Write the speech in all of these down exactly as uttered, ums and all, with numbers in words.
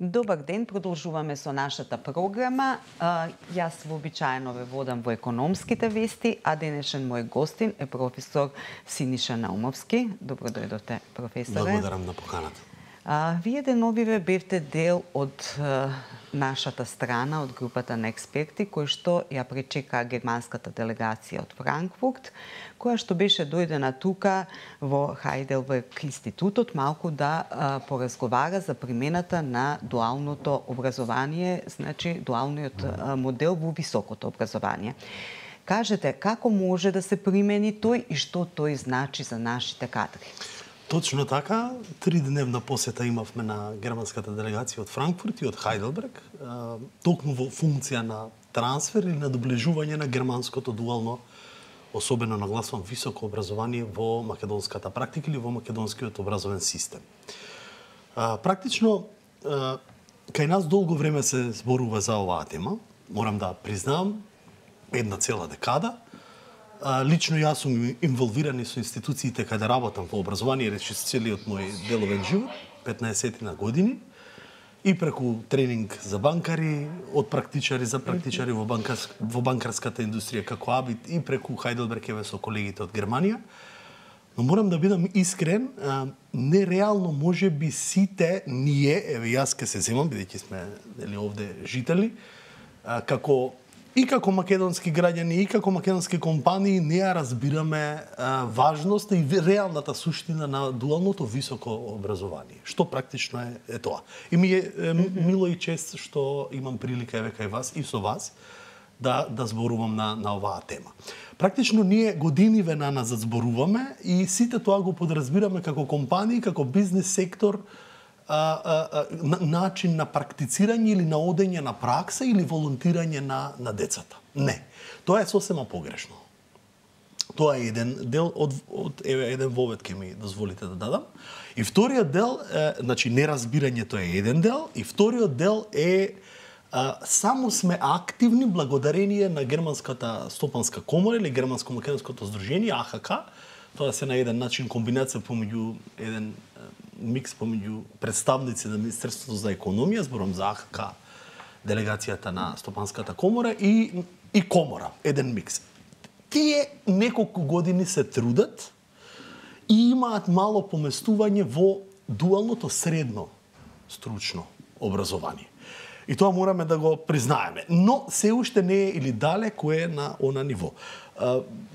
Добар ден, продолжуваме со нашата програма. Јас вообичаено ве водам во економските вести, а денешен мој гостин е професор Синиша Наумовски. Добро дојдовте, професоре. Благодарам на поканата. А, вие деновиве бевте дел од а, нашата страна, од групата на експерти, кои што ја пречека германската делегација од Франкфурт, која што беше дојдена тука во Хајделберг институтот малку да а, поразговара за примената на дуалното образование, значи дуалниот а, модел во високото образование. Кажете, како може да се примени тој и што тој значи за нашите кадри? Точно така, тридневна посета имавме на германската делегација од Франкфурт и од Хајделберг, токму во функција на трансфер или на доближување на германското дуално, особено нагласувам високо образование во македонската практика или во македонскиот образовен систем. Практично, кај нас долго време се зборува за оваа тема, морам да признавам, една цела декада. Лично јас сум инволвиран со институциите каде работам во образование речи целиот мој деловен живот, петнаесет на години, и преку тренинг за банкари, од практичари за практичари во, банкарс, во банкарската индустрија како Абит и преку Хајделберг еве со колегите од Германија. Но морам да бидам искрен, нереално може би сите ние, еве јас ке се земам, бидејќи сме дели овде жители, како и како македонски граѓани, и како македонски компании, не ја разбираме а, важноста и реалната суштина на дуалното високо образование. Што практично е, е тоа. И ми е, е мило и чест што имам прилика еве кај вас и со вас да да зборувам на на оваа тема. Практично ние години ве назад зборуваме и сите тоа го подразбираме како компании, како бизнес сектор, А, а, а, начин на практицирање или на одење на пракса или волонтирање на, на децата. Не. Тоа е сосема погрешно. Тоа е еден дел од, од еве еден вовет ке ми дозволите да дадам. И вториот дел, е, значи неразбирањето е еден дел, и вториот дел е а, само сме активни благодарение на Германската стопанска комора или Германско-македонското здружение А Х К. Тоа се на еден начин комбинација помеѓу еден микс помеѓу представници на Министерството за економија, зборам за А Х К, делегацијата на Стопанската комора и и комора, еден микс. Тие неколку години се трудат и имаат мало поместување во дуалното средно стручно образование. И тоа мораме да го признаеме. Но се уште не е или далеко е на она ниво.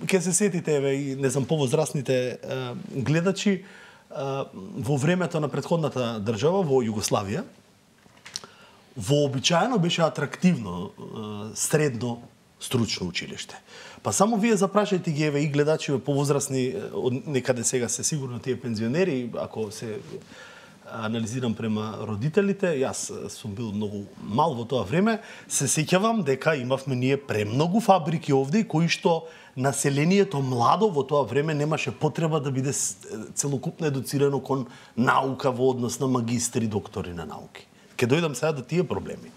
Ке се сетите, еве, и не знам, повозрастните гледачи, во времето на претходната држава, во Југославија, вообичаено беше атрактивно средно стручно училиште. Па само вие запрашајте ги, еве, и гледачи повозрастни, некаде сега се сигурно тие пензионери, ако се анализирам према родителите, јас сум бил многу мал во тоа време, се сеќавам дека имавме ние премногу фабрики овде кои што населението младо во тоа време немаше потреба да биде целокупно едуцирано кон наука во однос на магистри, доктори на науки. Ке дојдам сега до тие проблеми.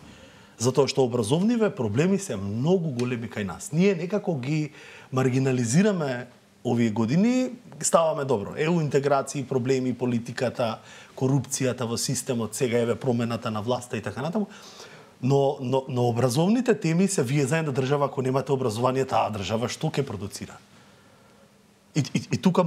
Затоа што образовниве проблеми се многу големи кај нас. Ние некако ги маргинализираме овие години, ставаме добро. Еу интеграции, проблеми, политиката, корупцијата во системот, сега еве промената на власта и така натаму. Но, но, но образовните теми се вие заедно држава, ако немате образование, таа држава што ќе продуцира? И, и, и тука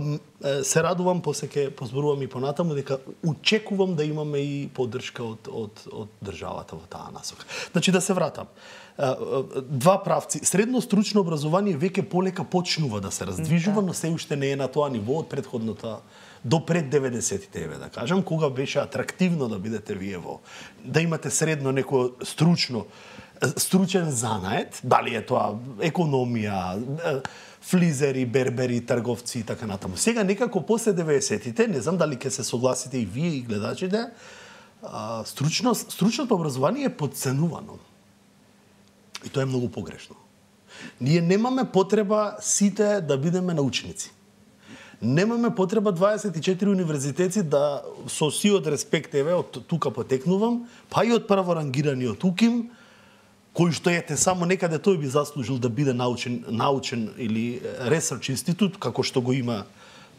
се радувам, после ќе позборувам и понатаму, дека очекувам да имаме и поддршка од, од, од државата во таа насока. Значи, да се вратам. Два правци. Средно стручно образование веќе полека почнува да се раздвижува, но се уште не е на тоа ниво од претходната до пред деветдесетите, еве да кажам, кога беше атрактивно да бидете вие во, да имате средно некој стручно, стручен занает, дали е тоа економија, флизери, бербери, трговци и така натаму. Сега некако после деветдесетите, не знам дали ќе се согласите и вие и гледачите, стручно, стручното образование е подценувано. И тоа е многу погрешно. Ние немаме потреба сите да бидеме научници. Немаме потреба дваесет и четири универзитети да со сиот респект, еве, од тука потекнувам, па и од прворангираниот УКИМ, кој што ете само некаде тој би заслужил да биде научен, научен или research институт, како што го има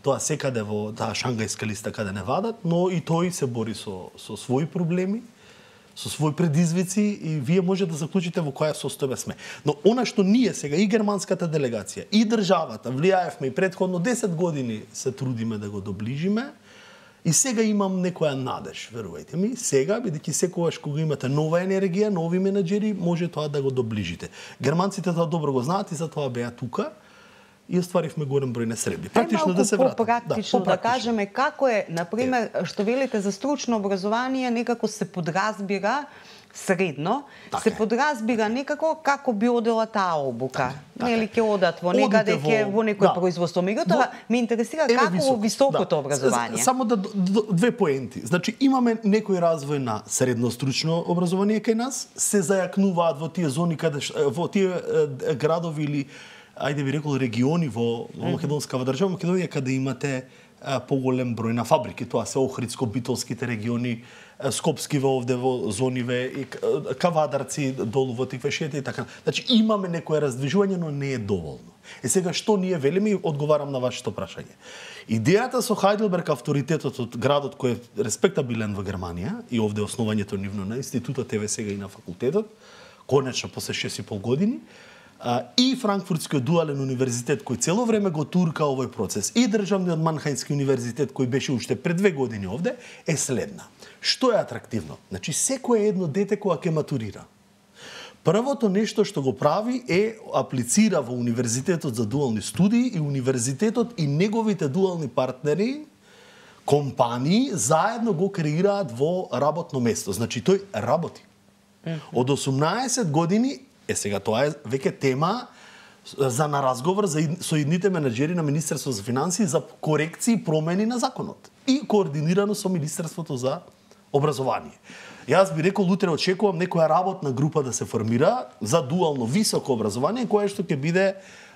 тоа секаде во таа шангајска листа каде не вадат, но и тој се бори со, со своји проблеми. со своји предизвици и вие може да заклучите во која состојба сме. Но она што ние сега и германската делегација и државата влијаевме и претходно десет години се трудиме да го доближиме. И сега имам некоја надеж, верувајте ми, сега, бидејќи секогаш кога имате нова енергија, нови менеджери, може тоа да го доближите. Германците тоа добро го знаат и затоа беа тука и остваривме голем број на средби. Практично да се вратам. Практично да, да кажеме како е, например, што велите за стручно образование, некако се подразбира средно, така се подразбира некако како би одела таа обука. Така, нели ќе одат во некаде ќе во, во некој да, производство. Меѓутоа ме интересира како високо, високото да, образование. Само да две поенти. Значи имаме некој развој на средно стручно образование кај нас, се зајакнуваат во тие зони каде во тие градови или ајде би рекол региони во македонскава држава, Македонија, каде имате поголем број на фабрики. Тоа се Охридско-Битолските региони, Скопскиве овде во зониве, и Кавадарци долу во Тиквешете и така. Значи имаме некое раздвижување, но не е доволно. Е сега што ние велиме и одговарам на вашето прашање. Идејата со Хајделберг, авторитетот од градот кој е респектабилен во Германија и овде основањето нивно на институтот, еве сега и на факултетот, конечно после шест и пол години, и Франкфуртскиот дуален универзитет кој цело време го турка овој процес и државниот Манхајмски универзитет кој беше уште пред две години овде е следна. Што е атрактивно? Значи секое едно дете кога ќе матурира. Првото нешто што го прави е аплицира во универзитетот за дуални студии и универзитетот и неговите дуални партнери, компании заедно го креираат во работно место. Значи тој работи. Од осумнаесет години е сега тоа е веќе тема за на разговор за со идните менеджери на Министерството за финансии за корекции и промени на законот и координирано со Министерството за образование. Јас би рекол утре очекувам некоја работна група да се формира за дуално високо образование која што ќе биде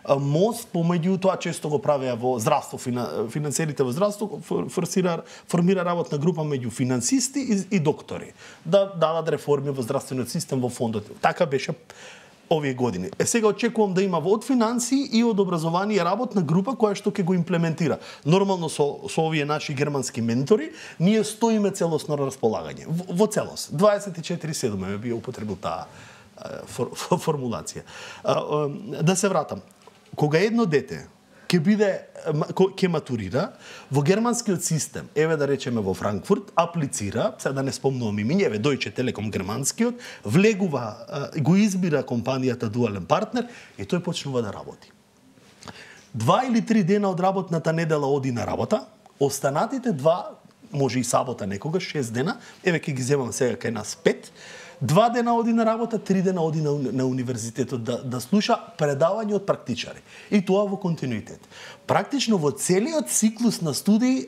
мост помеѓу тоа често го правеа во здравство, финансерите во здравство форсира формира работна група меѓу финансисти и, и доктори да дадат реформи во здравствениот систем во фондот. Така беше овие години. Е сега очекувам да има од финансии и од образование работна група која што ќе го имплементира. Нормално со со овие наши германски ментори ние стоиме целосно на располагање. Во, во целост. дваесет и четири седум ме би употребил таа фор, фор, формулација. Да се вратам. Кога едно дете ќе биде ќе матурира во германскиот систем, еве да речеме во Франкфурт, аплицира, сега да не спомнувам имиња, еве Deutsche Telekom германскиот, влегува, го избира компанијата дуален партнер и тој почнува да работи. Два или три дена од работната недела оди на работа, останатите два, може и сабота некогаш, шест дена, еве ќе ги земам сега кај нас пет, два дена оди на работа, три дена оди на, на универзитетот да, да слуша предавање од практичари. И тоа во континуитет. Практично во целиот циклус на студии,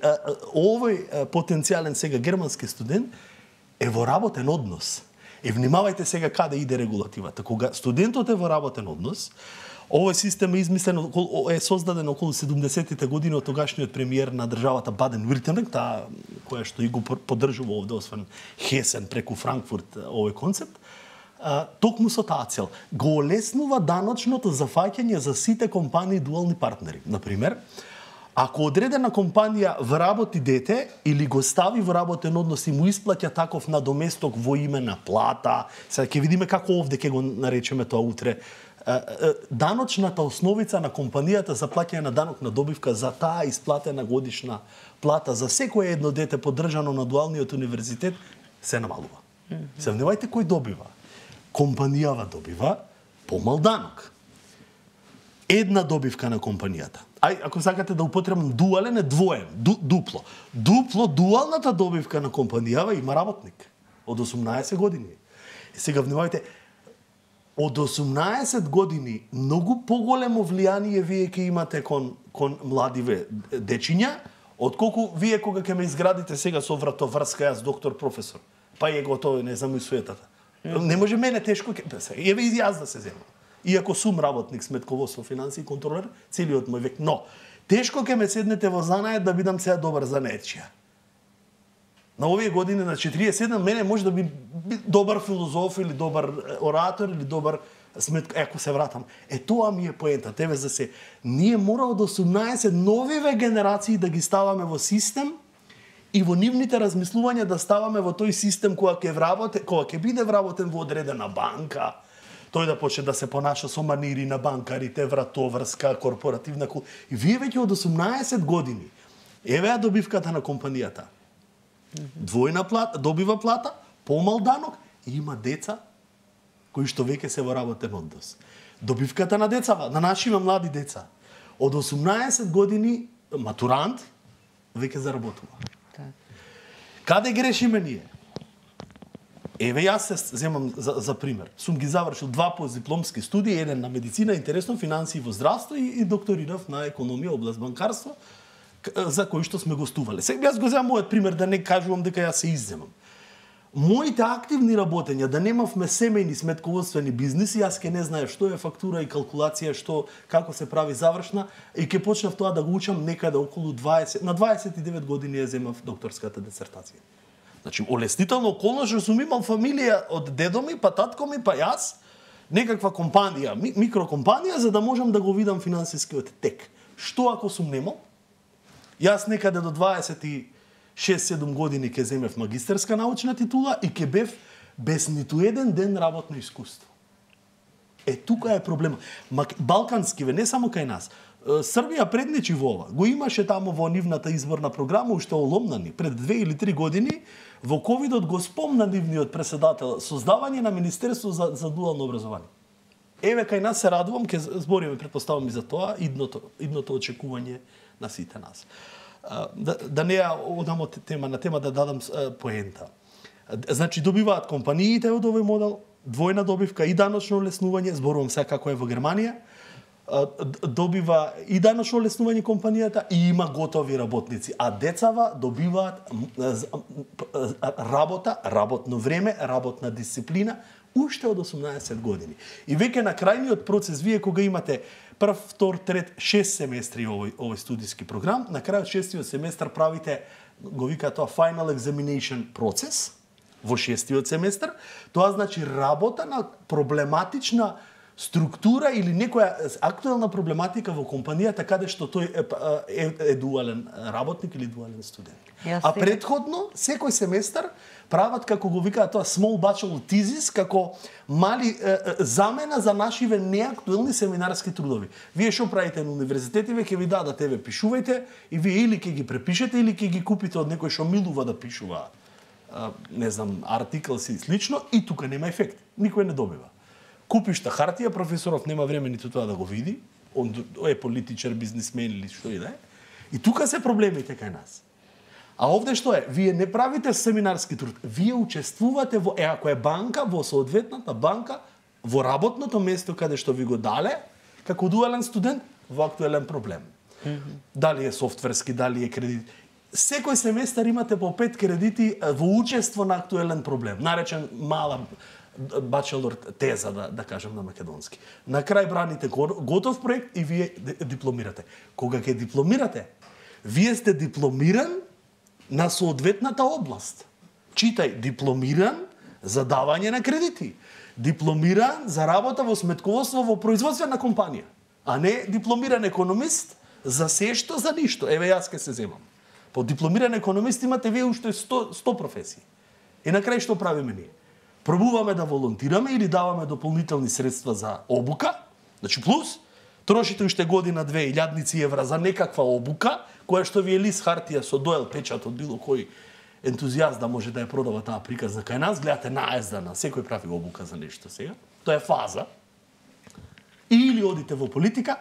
овој потенцијален сега германски студент е во работен однос. И внимавајте сега каде иде регулативата. Кога студентот е во работен однос, овој систем е измислен, е создаден околу седумдесеттите години од тогашниот премиер на државата Баден-Вюртемберг, таа која што и го поддржува овде, освен Хесен преку Франкфурт овој концепт, токму со таа цел. Го олеснува даночното зафаќање за сите компании дуални партнери. Например, ако одредена компанија вработи дете или го стави во работен однос и му исплаќа таков надоместок во име на плата, сега ќе видиме како овде ќе го наречеме тоа утре, даночната основица на компанијата за плаќање на данок на добивка за таа исплатена годишна плата за секое едно дете поддржано на дуалниот универзитет се намалува. Mm-hmm. Се внимавајте кој добива. Компанијава добива помал данок. Една добивка на компанијата. Ај, ако сакате да употребам дуален е двоен, ду, дупло. Дупло, дуалната добивка на компанијава има работник од осумнаесет години. И сега внимавајте, од осумнаесет години многу поголемо влијание вие ќе имате кон кон младиве дечиња, отколку вие кога ќе ме изградите сега со вратоврска јас доктор професор. Па е готово, не знам и суетата. Mm. Не може мене тешко ќе еве и јас да се земам. Иако сум работник сметководство, финансии контролер целиот мој век, но тешко ќе ме седнете во занает да бидам сега добар занаетчија. На овие години на четириесет и седум мене може да би добар филозоф или добар оратор или добар сметка, ако се вратам. Е тоа ми е поентата. Еве за се ние мора од осумнаесет новиве генерации да ги ставаме во систем и во нивните размислувања да ставаме во тој систем кога ќе вработе, кога ќе биде вработен во одредена банка, тој да почне да се понаша со манири на банкарите, вратоврска, корпоративна кул... И вие веќе од осумнаесет години, еве ја добивката на компанијата. Двојна плата, добива плата, помал данок и има деца кои што веќе се во работен однос. Добивката на децава, на нашиве млади деца. Од осумнаесет години матурант веќе заработува. Каде грешиме ние? Еве јас се земам за, за пример. Сум ги завршил два постдипломски студии, еден на медицина, интересно, финансии во здравство и, и докторирав на економија, област банкарство, за кој што сме гостувале. Сега јас го земам мојот пример, да не кажувам дека јас се изземам. Моите активни работења, да немавме семејни сметководствени бизниси, јас ке не знаев што е фактура и калкулација, што како се прави завршна, и ке почнав тоа да го учам некаде околу дваесет, на дваесет и девет години ја земав докторската дисертација. Значи, олеснително околно што сум имал фамилија од дедо ми, па татко ми, па јас, некаква компанија, ми, микрокомпанија, за да можам да го видам финансискиот тек. Што ако сум немал? Јас некаде до дваесет и шест-седум години ке земев магистерска научна титула и ке бев без ниту еден ден работно искуство. Е, тука е проблема. Балканскиве, не само кај нас. Србија предничи во ова. Го имаше таму во нивната изборна програма, уште оломнани. Пред две или три години, во ковидот го спомна нивниот преседател создавање на Министерство за, за дуално образование. Еве, кај нас се радувам, ке збориме, предпоставам и за тоа, идното, идното очекување на сите нас. Да, да не ја одам од тема на тема, да дадам поента. Значи, добиваат компаниите од овој модел, двојна добивка и даночно олеснување, зборувам сега како е во Германија, добива и даночно олеснување компанијата и има готови работници, а децава добиваат работа, работно време, работна дисциплина, уште од осумнаесет години. И веќе на крајниот процес, вие кога имате прв, втор, трет, шест семестри овој, овој студиски програм, на крајот шестиот семестар правите, го вика тоа, final examination процес, во шестиот семестар, тоа значи работа на проблематична структура или некоја актуелна проблематика во компанијата каде што тој е, е, е дуален работник или дуален студент. А предходно, секој семестар прават, како го викаат тоа, small bachelor thesis, како мали е, е, замена за нашиве неактуелни семинарски трудови. Вие што правите на универзитетиве, ќе ви дадат, еве, пишувајте, и вие или ќе ги препишете, или ќе ги купите од некој што милува да пишува, не знам, артикл си слично, и тука нема ефект. Никој не добива. Купиш та хартија, професоров нема време ниту тоа да го види, он е политичар, бизнисмен или што и да е. И тука се проблемите кај нас. А овде што е? Вие не правите семинарски труд, вие учествувате во, е, ако е банка, во соодветната банка, во работното место каде што ви го дале, како дуален студент, во актуелен проблем. Mm-hmm. Дали е софтверски, дали е кредит. Секој семестар имате по пет кредити во учество на актуелен проблем, наречен мала бачелор теза, да, да кажем на македонски. На крај браните готов проект и вие дипломирате. Кога ќе дипломирате, вие сте дипломиран на соодветната област. Читај, дипломиран за давање на кредити. Дипломиран за работа во сметководство во производствена компанија. А не дипломиран економист за се што за ништо. Еве јас ке се земам. По дипломиран економист имате вие уште сто, сто професии. И на крај што правиме ние? Пробуваме да волонтираме или даваме дополнителни средства за обука, значи плюс, трошите уште година две илјадници евра за некаква обука, која што ви е лист хартија со доел печат од било кој ентузијаст да може да ја продава таа приказна кај нас, гледате наездана, секој прави обука за нешто сега. Тоа е фаза. Или одите во политика,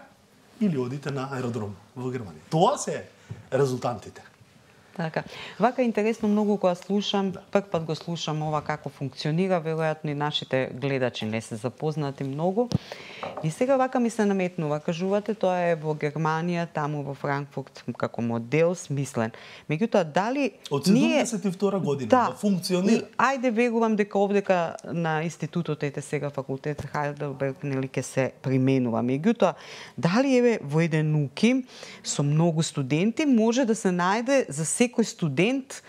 или одите на аеродром во Германија. Тоа се резултантите. Така. Вака интересно многу кога слушам, да. Прв пат го слушам ова како функционира, веројатно и нашите гледачи не се запознати многу. И сега вака ми се наметнува, кажувате тоа е во Германија, таму во Франкфурт како модел смислен. Меѓутоа дали од седумдесет и втора година да, да функционира. Ајде верувам дека овдека на институтот ете сега факултет Хайделберг нели ќе се применува. Меѓутоа дали еве во еден УКИМ со многу студенти може да се најде за секој студент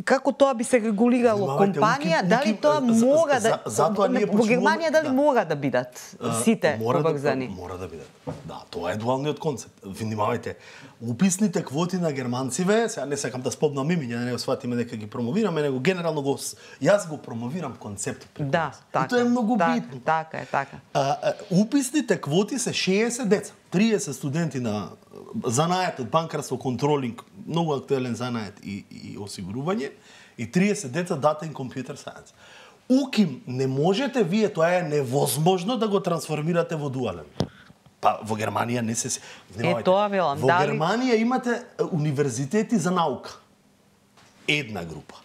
како тоа би се регулирало Внимавајте, компанија, уким- дали уким- тоа за- мора за- да затоа ние во почнуваме- Германија дали да. мора да бидат сите мора поврзани? Да, мора да бидат. Да, тоа е дуалниот концепт. Внимавајте, уписните квоти на германциве, сега не сакам да спомнам имиња, да не го сватиме дека ги промовираме, него генерално го јас го промовирам концептот. Да, така. И тоа е многу така, битно. Така е, така. А, а, уписните квоти се шеесет деца, триесет студенти на занаетот банкарство, контролинг, многу актуелен занает и, и осигурување, и триесет деца дата и компјутер сајенс. Уким не можете вие, тоа е невозможно да го трансформирате во дуален. Па во Германија не се Е, тоа велам, Во дали- Германија имате универзитети за наука. Една група.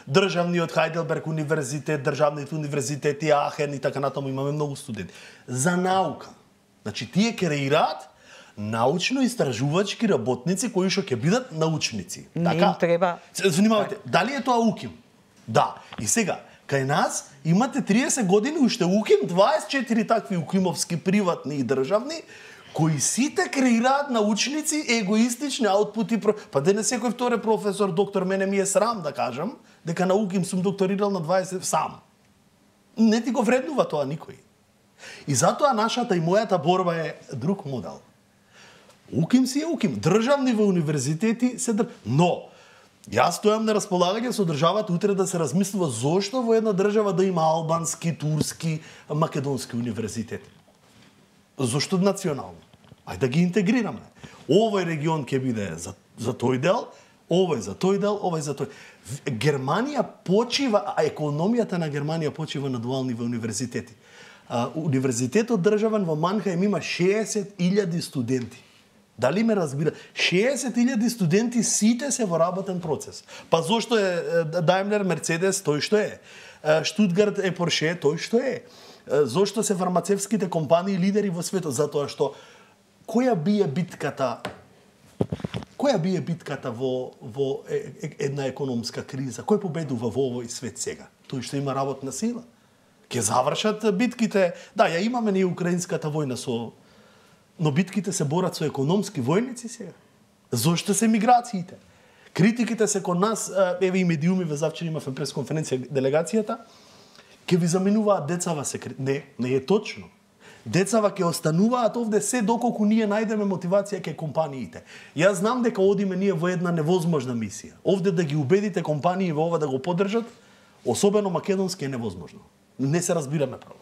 Државниот Хајделберг универзитет, државните универзитети Ахен и така натаму имаме многу студенти. За наука. Значи тие креираат научно-истражувачки работници кои што ќе бидат научници. Не Така? им треба. Внимавајте, дали е тоа уким? Да. И сега, кај нас имате триесет години уште уким, дваесет и четири такви укимовски приватни и државни, кои сите креираат научници егоистични аутпути. Па денес секој втори професор, доктор, мене ми е срам да кажам, дека на уким сум докторирал на дваесет сам. Не ти го вреднува тоа никој. И затоа нашата и мојата борба е друг модел. Уким си е уким. Државни во универзитети се др... Но, јас стојам на располагање со државата утре да се размислува зошто во една држава да има албански, турски, македонски универзитети. Зошто национално? Ајде да ги интегрираме. Овој регион ќе биде за, за тој дел, овој за тој дел, овој за тој. Германија почива, а економијата на Германија почива на дуални универзитети. А, универзитетот државен во Манхајм има шеесет илјади студенти. Дали ме разбира? шеесет илјади студенти сите се во работен процес. Па зошто е Daimler, Mercedes, тој што е? Штутгарт е Porsche, тој што е? Зошто се фармацевските компании лидери во светот? Затоа што која бие битката која бие битката во во една економска криза? Кој победува во овој свет сега? Тој што има работна сила. Ќе завршат битките. Да, ја имаме ние украинската војна со, но битките се борат со економски војници сега. Зошто се миграциите? Критиките се кон нас, еве и медиумиве, завчера имавме пресконференција делегацијата, ќе ви заменуваат децава се. Не, не е точно. Децава ќе остануваат овде се доколку ние најдеме мотивација кај компаниите. Јас знам дека одиме ние во една невозможна мисија. Овде да ги убедите компании во ова да го поддржат, особено македонски, е невозможно. Не се разбираме право.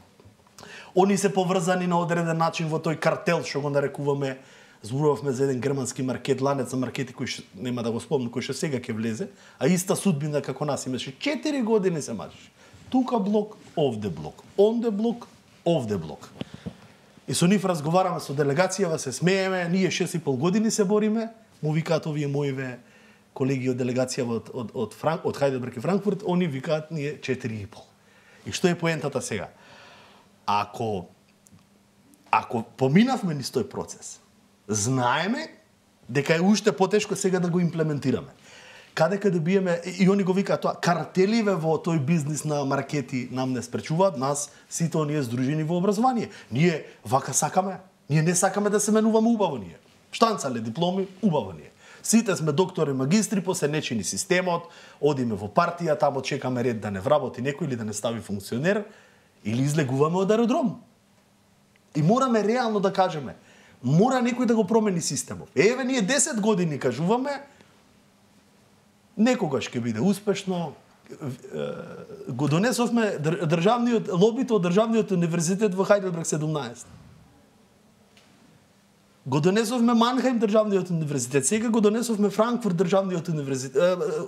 Они се поврзани на одреден начин во тој картел што го нарекуваме. Зборувавме за еден германски маркет, ланец за маркети кој ш... нема да го спомнам, кој што сега ќе влезе, а иста судбина како нас имаше. четири години се мачеше. Тука блок, овде блок, онде блок, овде блок. И со нив разговараме со делегацијава, се смееме, ние шест и пол години се бориме, му викаат овие моиве колеги од делегацијава од од од Франк, од Хајделберг и Франкфурт, они викаат ние четири и пол. И што е поентата сега? Ако ако поминавме низ тој процес, знаеме дека е уште потешко сега да го имплементираме. Каде каде биеме, и они го викаат тоа, картеливе во тој бизнис на маркети нам не спречуваат, нас сите оние здружени во образование. Ние вака сакаме, ние не сакаме да се менуваме убаво ние. Штанцале дипломи, убаво ние. Сите сме доктори, магистри, после нечини системот, одиме во партија, тамо чекаме ред да не вработи некој или да не стави функционер, или излегуваме од аеродром. И мораме реално да кажеме, мора некој да го промени системот. Еве, ние десет години кажуваме, некогаш ќе биде успешно. Го донесовме државниот лобито од државниот универзитет во Хајделберг седумнаесет. Го донесовме Манхајм државниот универзитет, сега го донесовме Франкфурт државниот универзитет,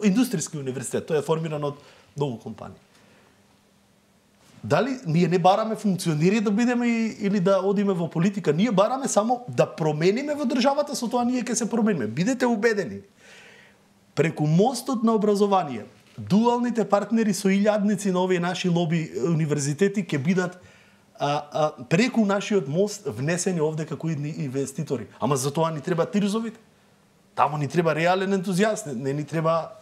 индустријски универзитет, тој е формиран од многу компании. Дали ние не бараме функционери да бидеме или да одиме во политика, ние бараме само да промениме во државата, со тоа ние ќе се промениме. Бидете убедени. Преку мостот на образование, дуалните партнери со илјадници на овие наши лоби универзитети ќе бидат а, а, преку нашиот мост внесени овде како инвеститори. Ама за тоа ни треба тирзовите. Тамо ни треба реален ентузијаст, не, не ни треба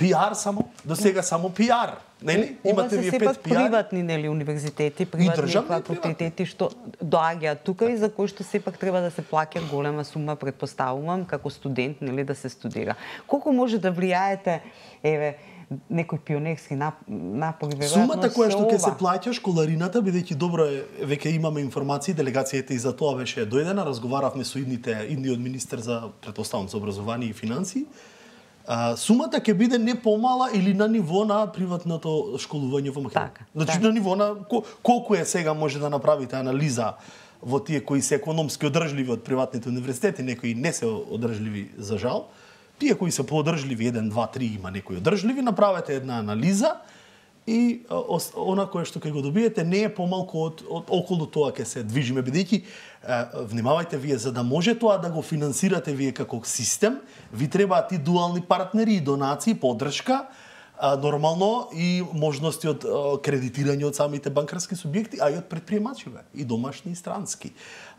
пиар само, до сега само пиар. Нели? Имате вие пет пиар. Приватни, нели, универзитети, приватни факултети што доаѓаат тука и за кои што сепак треба да се плаќа голема сума, предпоставувам, како студент, нели, да се студира. Колку може да влијаете, еве, некој пионерски напори, веројатно сумата која што ќе се плаќа школарината, бидејќи добро е, веќе имаме информации, делегацијата и за тоа беше дојдена, разговаравме со идните, идниот министер за, претпоставам, за образование и финансии. А, сумата ќе биде не помала или на ниво на приватното школување во Македонија. Така, значи така. на ниво на колку е сега може да направите анализа во тие кои се економски одржливи од приватните универзитети, некои не се одржливи за жал. Тие кои се поодржливи, еден, два, три, има некои одржливи, направете една анализа и она кое што ќе го добиете не е помалку од, од околу тоа ќе се движиме, бидејќи внимавајте вие, за да може тоа да го финансирате вие како систем, ви требаат и дуални партнери, и донации, поддршка, нормално и можности од кредитирање од самите банкарски субјекти, а и од предприемачиве, и домашни и странски.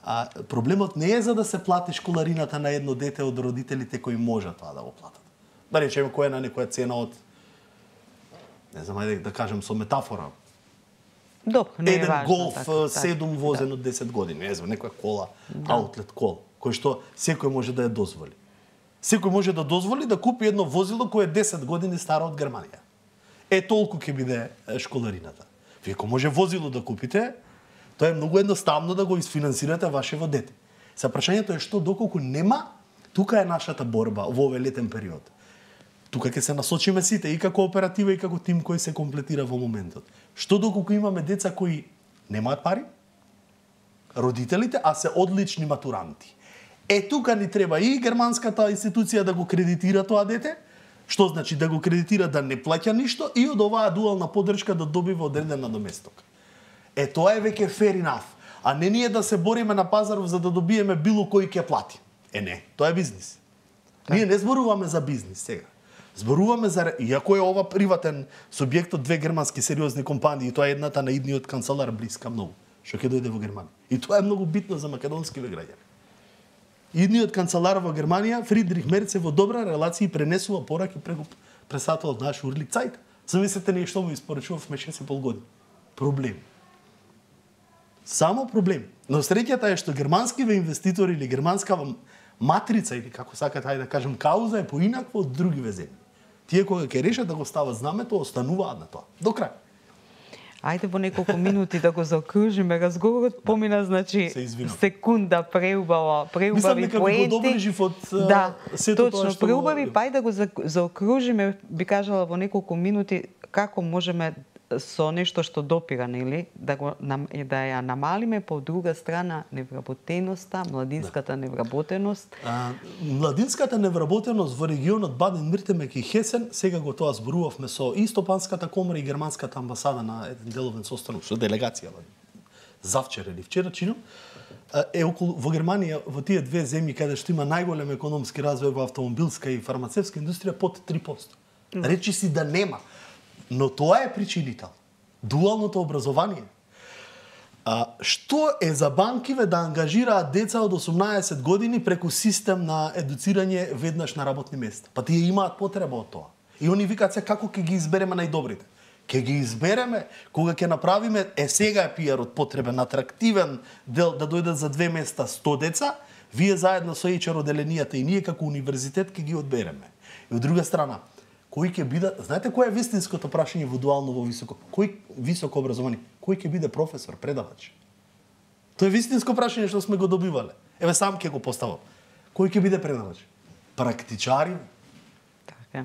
А проблемот не е за да се плати школарината на едно дете од родителите кои можат тоа да го платат. Да речеме која е на некоја цена од, не знам, ајде да кажем со метафора, Добро, не е еден важно, Голф така, седум така, возен да. од десет години, не знам, некоја кола, Да. аутлет кол, кој што секој може да ја дозволи. Секој може да дозволи да купи едно возило кое е десет години старо од Германија. Е, толку ќе биде школарината. Вие ако може возило да купите, тоа е многу едноставно да го изфинансирате вашево дете. Са прашањето е што доколку нема, тука е нашата борба во овој летен период. Тука ќе се насочиме сите и како оператива и како тим кој се комплетира во моментот. Што доколку имаме деца кои немаат пари, родителите, а се одлични матуранти. Е, тука ни треба и германската институција да го кредитира тоа дете, што значи да го кредитира да не плаќа ништо и од оваа дуална поддршка да добива одреден надоместок. Е, тоа е веќе fair enough. А не ние да се бориме на пазаров за да добиеме било кој ќе плати. Е, не, тоа е бизнис. Ние не зборуваме за бизнис сега. Зборуваме за, иако е ова приватен субјект од две германски сериозни компании, тоа е едната на идниот канцелар блиска многу, што ќе дојде во Германија. И тоа е многу битно за македонскиве граѓани. Идниот канцелар во Германија, Фридрих Мерц, во добра релација пренесува пораки преку председателот наш Урлик Цајт. Замислете ние што му испорачувавме шест и пол години. Проблем. Само проблем. Но среќата е што германскиве инвеститори или германска матрица или како сакате ајде да кажем кауза е поинаква од другиве земји. Тие кога ќе решат да го стават знамето, остануваат на тоа. До крај. Ајде во неколку минути да го заокружиме. Разговорот помина, значи, секунда преубава, преубави поенти. Мислам дека го доближив од да, сето тоа што... Точно, преубави, па ајде да го заокружиме, би кажала во неколку минути, како можеме со нешто што допира, нели, да го да ја намалиме, по друга страна невработеноста, младинската да. невработеност. А, младинската невработеност во регионот Баден-Виртемберг и Хесен, сега го тоа зборувавме со и Стопанската комора и германската амбасада на еден деловен состанок со делегација завчера или вчера чином, е околу во Германија, во тие две земји каде што има најголем економски развој во автомобилска и фармацевтска индустрија под три проценти. Речи си да нема. Но тоа е причинител. Дуалното образование. А, што е за банкиве да ангажираат деца од осумнаесет години преку систем на едуцирање веднаш на работни места? Па тие имаат потреба од тоа. И они викаат се како ќе ги избереме најдобрите. Ќе ги избереме кога ќе направиме, е сега е пиарот потребен, атрактивен дел да дојдат за две места сто деца, вие заедно со ейч ар оделенијата и ние како универзитет ќе ги одбереме. И од друга страна, кој ќе биде, знаете кој е вистинското прашање во дуално во високо, кој високо образование, кој ќе биде професор, предавач? Тоа е вистинско прашање што сме го добивале. Еве сам ќе го поставам. Кој ќе биде предавач? Практичари? Така.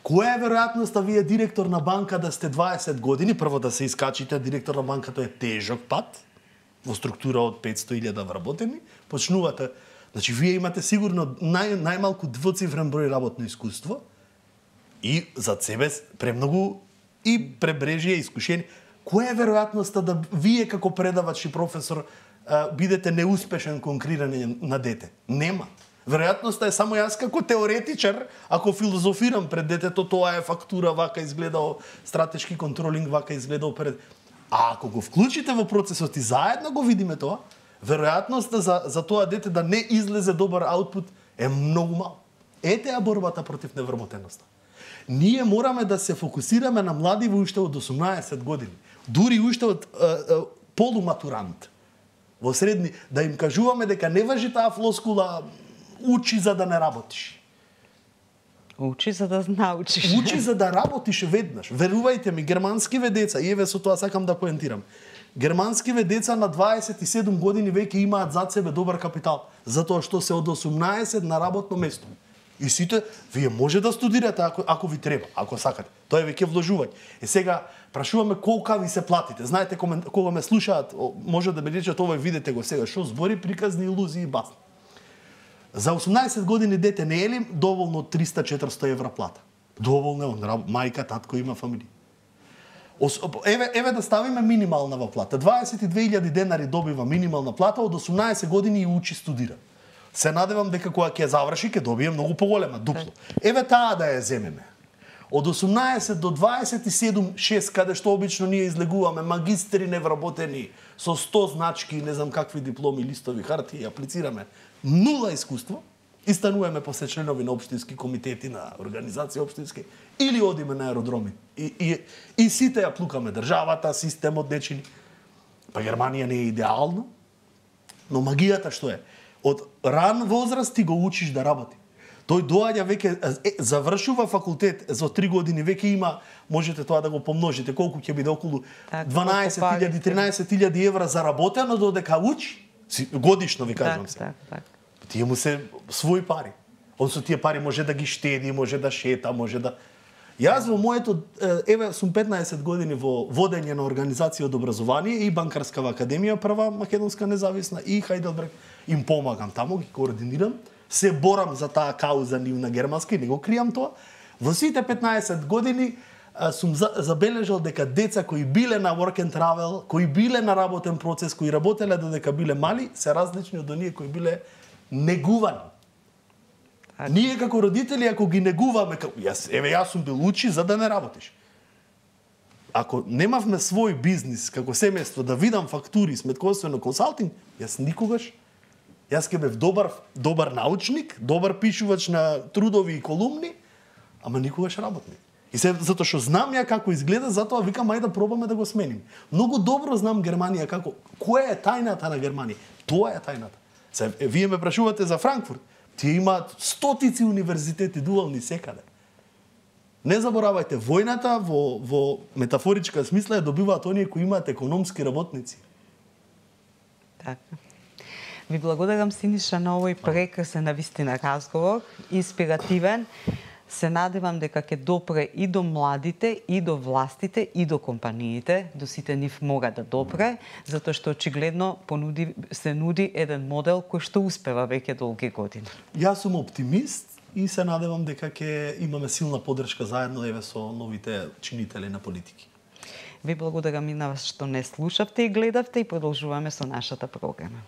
Која е веројатноста вие директор на банка да сте дваесет години, прво да се искачите директор на банка, тоа е тежок пат во структура од петсто илјади вработени, почнувате, значи вие имате сигурно нај, најмалку двоцифрен број работно искуство, и зад себе премногу и пребрежие искушени. Која е веројатноста да вие како предавач и професор бидете неуспешен конкурирање на дете? Нема. Веројатноста е само јас како теоретичар, ако филозофирам пред детето, тоа е фактура, вака изгледao стратешки контролинг, вака изгледao пред... А ако го вклучите во процесот и заедно го видиме тоа, веројатноста за, за тоа дете да не излезе добар аутпут е многу мал. Ете ја борбата против невработеноста. Ние мораме да се фокусираме на млади во уште од осумнаесет години. Дури уште од е, е, полуматурант. Во средни, да им кажуваме дека не важи таа флоскула учи за да не работиш. Учи за да научиш. Учи за да работиш веднаш. Верувајте ми, германскиве деца, и еве со тоа сакам да поентирам. Германскиве деца на дваесет и седум години веќе имаат зад себе добар капитал, затоа што се од осумнаесет на работно место. И сите, вие може да студирате ако, ако ви треба, ако сакате. Тоа е веќе вложување. И сега прашуваме колка ви се платите. Знаете, кога ме слушаат, може да ме речат овој, видете го сега, што збори, приказни илузии и басни. За осумнаесет години дете не е ли доволно триста-четиристо евра плата? Доволно е, мајка, татко има фамилија. Еве, еве да ставиме минимална плата. дваесет и две илјади денари добива минимална плата, од осумнаесет години и учи студира. Се надевам дека кога ќе заврши ќе добие многу поголема, дупло. Еве таа да ја земеме. Од осумнаесет до дваесет и седум шест, каде што обично ние излегуваме магистри невработени со сто значки, не знам какви дипломи, листови, хартии, аплицираме, нула искуство, и стануваме после членови на општински комитети, на организации општински, или одиме на аеродроми. И, и, и сите ја плукаме државата, системот нечини. Па Германија не е идеално, но магијата што е? Од ран возраст ти го учиш да работи. Тој доаѓа веќе, е, завршува факултет за три години, веќе има, можете тоа да го помножите, колку ќе биде околу дванаесет илјади, тринаесет илјади евра заработено додека учи. Годишно ви кажам так, се. Так, так. Тие му се своји пари. Он со тие пари може да ги штеди, може да шета, може да... Јас во моето, еве, сум петнаесет години во водење на организација од образование и Банкарскава академија, прва македонска независна, и Хајделберг, им помагам таму, ги координирам, се борам за таа кауза нивна германска и не го кријам тоа. Во сите петнаесет години сум забележал дека деца кои биле на work and travel, кои биле на работен процес, кои работеле додека биле мали, се различни од оние кои биле негувани. Ние како родители, ако ги негуваме, како, јас, еве јас сум бил учи за да не работиш. Ако немавме свој бизнис како семејство да видам фактури, сметковствено консалтинг, јас никогаш, јас ќе бев добар, добар научник, добар пишувач на трудови и колумни, ама никогаш работник. И се затоа што знам ја како изгледа, затоа викам ајде да пробаме да го сменим. Многу добро знам Германија како, која е тајната на Германија? Тоа е тајната. Се, вие ме прашувате за Франкфурт. Тие имаат стотици универзитети дуални секаде. Не заборавајте, војната во, во метафоричка смисла ја добиваат оние кои имаат економски работници. Така. Ви благодарам, Синиша, на овој прекрасен навистина разговор, инспиративен. Се надевам дека ќе допре и до младите, и до властите, и до компаниите, до сите нив мора да допре, затоа што очигледно понуди, се нуди еден модел кој што успева веќе долги години. Јас сум оптимист и се надевам дека ќе имаме силна поддршка заедно еве со новите чинители на политики. Ви благодарам и на вас што не слушавте и гледавте и продолжуваме со нашата програма.